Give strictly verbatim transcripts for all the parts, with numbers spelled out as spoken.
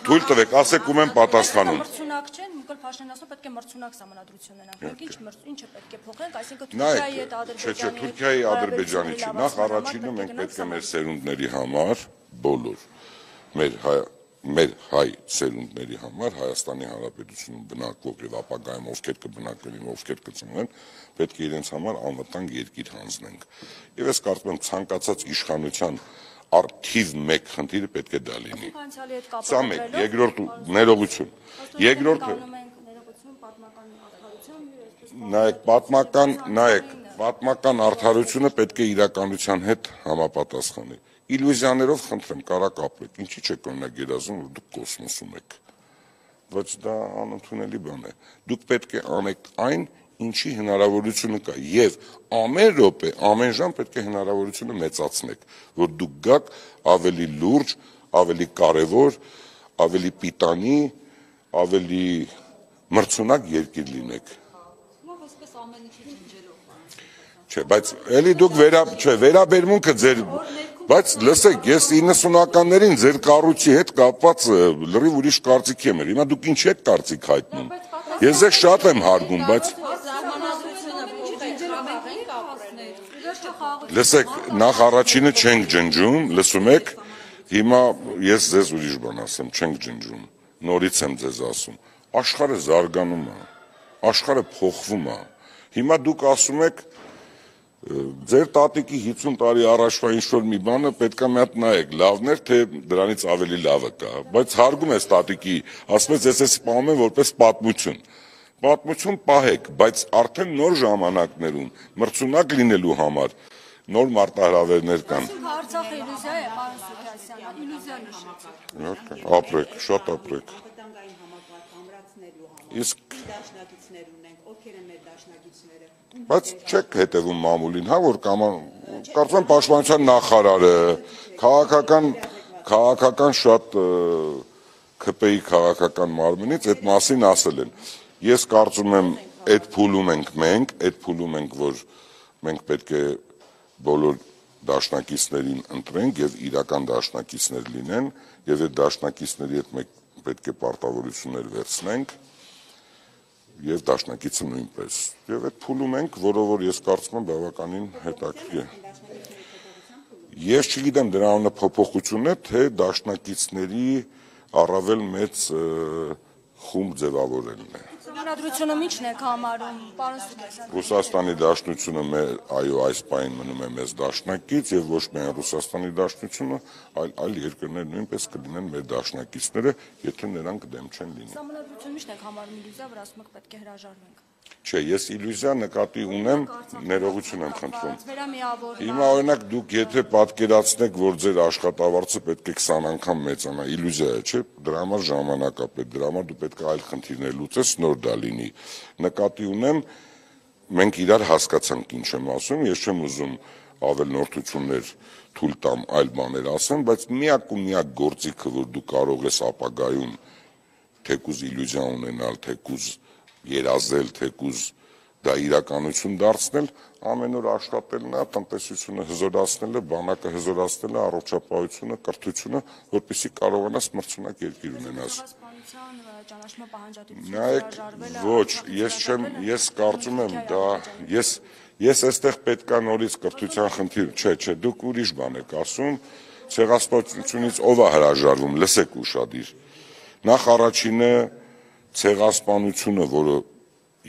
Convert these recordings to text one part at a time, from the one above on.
Թույլ տվեք, ասեք ում եմ պատասխանում։ Մրցունակ չեն, Նիկոլ Փաշինյանն ասում պետք է մրցունակ սահմանադրություն ունենանք։ Մենք ինչ ինչը պետք է փոխենք, այսինքն Թուրքիայի հետ Չէ, չէ, Թուրքիայի, Ադրբեջանի Ադրբեջանի չի, նախ առաջինը մենք պետք է մեր սերունդների համար, բոլոր, մեր մեր հայ սերունդների համար Հայաստանի Հանրապետությունում բնակվող եւ ապագայում ովքեր կբնակվեն, ովքեր կծնվեն, պետք է իրենց համար անվտանգ երկիր հանձնենք։ Եվ ես կարծում եմ ցանկացած իշխանության արդիվ մեկ խնդիրը պետք է դա լինի։ Սա մեկ, երկրորդ ներողություն։ Երկրորդը նայեք, պատմական, նայեք, պատմական արդարությունը պետք է իրականության հետ համապատասխանի։ Իլյուզիաներով խնդրեմ, կարակ ապրեք, ինչի՞ չեք օրինակ երազում, որ դուք կոսմոսում եք, բայց դա անընդունելի բան է, դուք պետք է անեք այն, ինչի հնարավորությունը կա, եւ ամեն րոպե, ամեն ժամ պետք է հնարավորությունը մեծացնեք, որ դուք գաք ավելի լուրջ, ավելի կարևոր, ավելի պիտանի, ավելի մրցունակ երկիր լինեք։ Չէ, բայց էլի դուք վերա, չէ, վերաբերմունքը ձեր Բայց լսեք, ես իննսունականներին ձեր կառույցի հետ կապված լրիվ ուրիշ կարծիք եմ, հիմա դուք ինչ եք կարծիք հայտնում։ Ես ձեզ շատ եմ հարգում, բայց լսեք, նախ առաջինը չենք ջնջում, լսում եք, հիմա ես ձեզ ուրիշ բան ասեմ, չենք ջնջում, նորից եմ ձեզ ասում, աշխարհը զարգանում է, աշխարհը փոխվում է, հիմա դուք ասում եք Ձեր տատիկի հիսուն տարի առաջվա ինչ-որ մի բանը պետք է մի հատ նայեք, լավն էր, թե դրանից ավելի լավը կա, բայց հարգում ես տատիկի, ասում ես, ես ես սպանում եմ որպես պատմություն, պատմություն պահեք, բայց արդեն նոր ժամանակներում, մրցունակ լինելու համար, նոր մարտահրավերներ կան։ Արցախը իլյուզիա է, պարոն Սուքասյան, իլյուզիա նշեցիք։ Ապրեք, շատ ապրեք։ Իսկ Բայց չեք հետևում մամուլին, հա, որ կարծում եմ պաշտպանության նախարարը, քաղաքական, քաղաքական շատ ՔՊ-ի քաղաքական մարմնից այդ մասին ասել են։ Ես կարծում եմ, այդ փուլում ենք մենք, այդ փուլում ենք, որ մենք պետք է բոլոր դաշնակիցներին ընտրենք եւ իրական դաշնակիցներ լինեն, եւ այդ դաշնակիցների հետ մենք պետք է պարտավորություններ վերցնենք։ Եվ դաշնակիցը նույնպես։ Եվ այդ փուլում ենք, որով որ ես կարծում եմ բավականին հետաքրքիր է։ Ես չգիտեմ դրա անունը փոփոխություն է, թե դաշնակիցների առավել մեծ խումբ ձևավորելն է։ Համանդրությունը ի՞նչն եք համարում, պարոն Սուքասյան։ Ռուսաստանի Դաշնությունը այո, այս պահին մնում է մեզ դաշնակից եւ ոչ միայն Ռուսաստանի Դաշնությունը, այլ այլ երկրներ նույնպես կլինեն մեր դաշնակիցները, եթե նրանք դեմ չեն լինի։ Համանդրությունը ի՞նչն եք համարում իլյուզիա, որ ասում եք պետք է հրաժարվենք։ Չէ, ես իլյուզիա նկատի ունեմ, ներողություն եմ խնդրում։ Հիմա օրինակ դուք եթե պատկերացնեք, որ ձեր աշխատավարձը պետք է քսան անգամ մեծանա, իլյուզիա է, չէ՞, դրա համար ժամանակ է պետք, դրա համար դու պետք է այլ խնդիրներ լուծես, նոր դա լինի։ Նկատի ունեմ, մենք իրար հասկացանք ինչ եմ ասում, ես չեմ ուզում ավելնորդություններ թույլ տամ այլ բաներ ասեմ, բայց միակ ու միակ գործիքը, որ դու կարող ես ապագայում թեկուզ իլյուզիա ունենալ, թեկուզ երազել, թեկուզ դա իրականություն դարձնել, ամեն օր աշխատելն է, տնտեսությունը հզորացնելը, բանակը հզորացնելը, առողջապահությունը, կրթությունը, որպեսզի կարողանաս մրցունակ երկիր ունենաս։ Նայեք, ոչ, ես չեմ, ես կարծում եմ դա, ես ես այստեղ պետք է նորից կրթության խնդիր, չէ, չէ, դուք ուրիշ բան եք ասում, ցեղասպանությունից ով է հրաժարվում, լսեք ուշադիր։ Նախ առաջինը ցեղասպանությունը, որը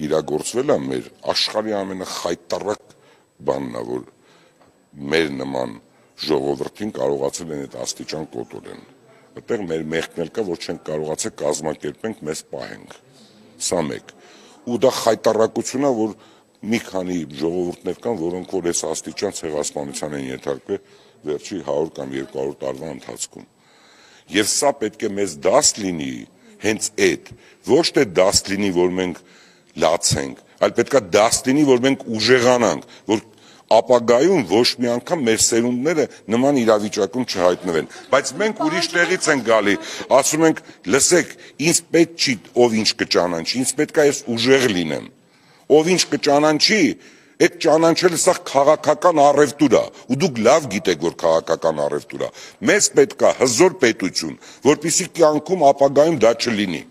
իրագործվել է մեր աշխարհի ամենախայտառակ բանն է, որ մեր նման ժողովրդին կարողացել են այդ աստիճան կոտորեն։ Այդտեղ մեր մեղքն էլ կա, որ չենք կարողացել կազմակերպենք, մեզ պահենք։ Սա մեկ։ Ու դա խայտառակություն է, որ մի քանի ժողովուրդներ կան, որոնք որ այս աստիճան ցեղասպանության են ենթարկվել վերջի հարյուր կամ երկու հարյուր տարվա ընթացքում։ Եվ սա պետք է մեզ դաս լինի հենց այդ, ոչ թե դաս լինի, որ մենք լացենք, այլ պետք է դաս լինի, որ մենք ուժեղանանք, որ ապագայում ոչ մի անգամ մեր սերունդները նման իրավիճակում չհայտնվեն, բայց մենք ուրիշ տեղից ենք գալի, ասում ենք, լսեք, ինձ պետք չի ով ինչ կճանաչի, ինձ պետք է ես ուժեղ լինեմ, ով ինչ կճանաչի, Այդ ճանաչելը սա քաղաքական առևտուր է, ու դուք լավ գիտեք, որ քաղաքական առևտուր է։ Մեզ պետք է հզոր պետություն, որպեսզի կյանքում ապագայում դա չլինի։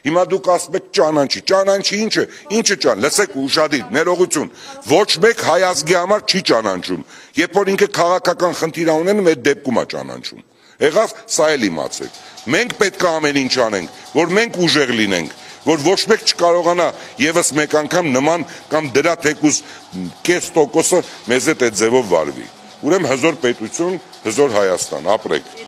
Հիմա դուք ասում եք ճանաչի, ճանաչի ինչը, ինչը ճան, լսեք ուշադիր, ներողություն, ոչ մեկ հայ ազգի համար չի ճանաչում, երբ որ ինքը քաղաքական խնդիր ունենում, այդ դեպքում է ճանաչում։ Եղավ, սա էլ իմացեք։ Մենք պետք է ամեն ինչ անենք, որ մենք ուժեղ լինենք, որ ոչ մեկ չկարողանա եւս մեկ անգամ նման կամ դրա թեկուզ կես տոկոսը մեզ հետ այդ ձևով վարվի։ Ուրեմն հզոր պետություն, հզոր Հայաստան, ապրեք։